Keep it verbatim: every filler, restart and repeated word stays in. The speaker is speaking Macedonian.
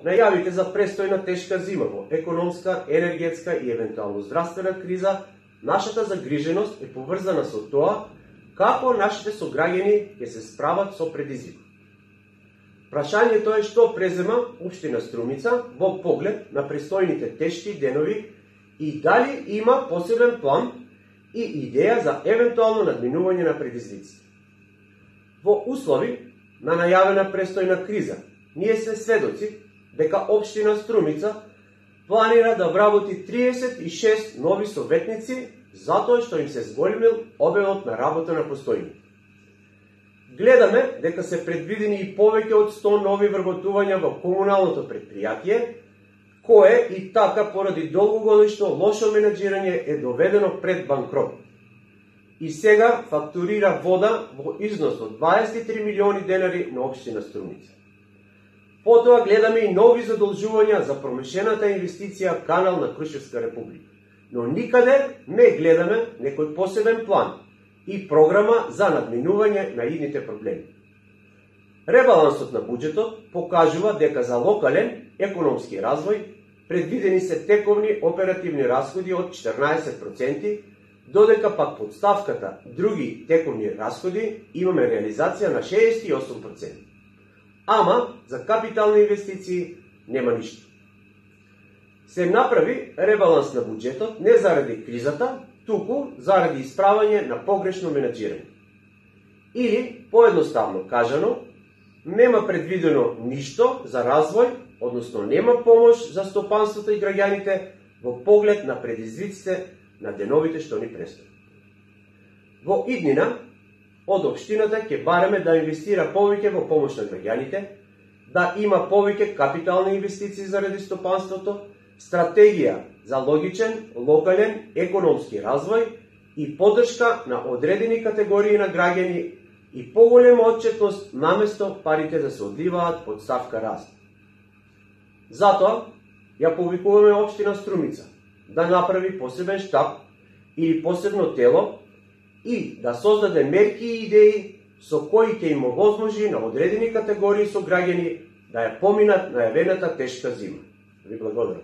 најавите за престојна тешка зима во економска, енергетска и евентуално здравствена криза, нашата загриженост е поврзана со тоа како нашите сограѓани ќе се справат со предизвикот. Прашањето е што презема општина Струмица во поглед на престојните тешки денови и дали има посебен план и идеја за евентуално надминување на предизвиците. Во услови на најавена престојна криза, ние се сведоци дека општина Струмица планира да вработи триесет и шест нови советници затоа што им се зголемил обемот на работа на постојни. Гледаме дека се предвидени и повеќе од сто нови вработувања во комуналното предпријатие, кое и така поради долгогодишно лошо менаџирање е доведено пред банкрот. И сега фактурира вода во износ од дваесет и три милиони денари на општина Струмица. Потоа гледаме и нови задолжувања за промешената инвестиција канал на Крушевска република. Но никаде не гледаме некој посебен план и програма за надминување на идните проблеми. Ребалансот на буџетот покажува дека за локален економски развој предвидени се тековни оперативни расходи од четрнаесет проценти, додека пак под ставката други тековни расходи имаме реализација на шеесет и осум проценти. Ама за капитални инвестиции нема ништо. Се направи ребаланс на буџетот не заради кризата, туку заради исправање на погрешно менаџирање. Или, поедноставно кажано, нема предвидено ништо за развој, односно нема помош за стопанството и граѓаните во поглед на предизвиците на деновите што ни престојат. Во иднина, од општината ќе бараме да инвестира повеќе во помош на граѓаните, да има повеќе капитални инвестиции заради стопанството, стратегија за логичен, локален, економски развој и поддршка на одредени категории на граѓани и поголема отчетност наместо парите да се одливаат под ставка раст. Затоа, ја повикуваме општина Струмица да направи посебен штаб или посебно тело и да создаде мерки и идеи со кои ќе им овозможи на одредени категории со граѓани да ја поминат најавената тешка зима. Ви благодарам.